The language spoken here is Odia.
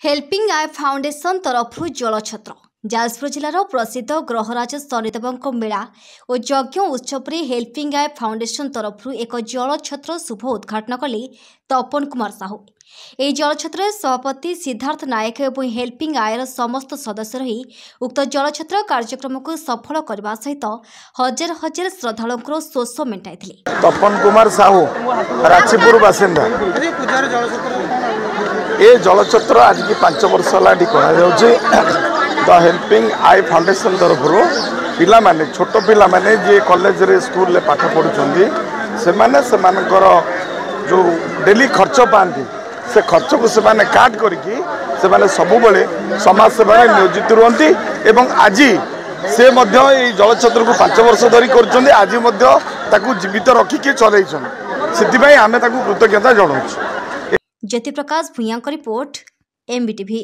ହେଲ୍ପିଂ I foundation ତରଫରୁ ଜଳଛତ୍ର। ଯାଜପୁର ଜିଲ୍ଲାର ପ୍ରସିଦ୍ଧ ଗ୍ରହରାଜ ଶନିଦେବଙ୍କ ମେଳା ଓ ଯଜ୍ଞ ଉତ୍ସବରେ ହେଲ୍ପିଂ I foundation ତରଫରୁ ଏକ ଜଳଛତ୍ର ଶୁଭ ଉଦ୍ଘାଟନ କଲେ ତପନ କୁମାର ସାହୁ। ଏହି ଜଳଛତ୍ରରେ ସଭାପତି ସିଦ୍ଧାର୍ଥ ନାୟକ ଏବଂ ହେଲ୍ପିଂ ଆଇର ସମସ୍ତ ସଦସ୍ୟ ରହି ଉକ୍ତ ଜଳଛତ୍ର କାର୍ଯ୍ୟକ୍ରମକୁ ସଫଳ କରିବା ସହିତ ହଜାର ହଜାର ଶ୍ରଦ୍ଧାଳୁଙ୍କର ଶୋଷ ମେଣ୍ଟାଇଥିଲେ। ତପନ କୁମାର ସାହୁ, ରାଛିପୁର ବାସିନ୍ଦା। ଏ ଜଳଛତ୍ର ଆଜିକି 5 ବର୍ଷ ହେଲା ଏଠି କରାଯାଉଛି ଦ ହେଲ୍ପିଂ I foundation ତରଫରୁ। ପିଲାମାନେ, ଛୋଟ ପିଲାମାନେ ଯିଏ କଲେଜରେ ସ୍କୁଲରେ ପାଠ ପଢ଼ୁଛନ୍ତି, ସେମାନେ ସେମାନଙ୍କର ଯେଉଁ ଡେଲି ଖର୍ଚ୍ଚ ପାଆନ୍ତି, ସେ ଖର୍ଚ୍ଚକୁ ସେମାନେ କାଟ କରିକି ସେମାନେ ସବୁବେଳେ ସମାଜ ସେବାରେ ନିୟୋଜିତ ରୁହନ୍ତି। ଏବଂ ଆଜି ସେ ମଧ୍ୟ ଏଇ ଜଳଛତ୍ରକୁ 5 ବର୍ଷ ଧରି କରୁଛନ୍ତି, ଆଜି ମଧ୍ୟ ତାକୁ ଜୀବିତ ରଖିକି ଚଲେଇଛନ୍ତି। ସେଥିପାଇଁ ଆମେ ତାକୁ କୃତଜ୍ଞତା ଜଣାଉଛୁ। ଜ୍ୟୋତିପ୍ରକାଶ ଭୂୟାଁଙ୍କ ରିପୋର୍ଟ, ଏମ୍ବିଟିଭି।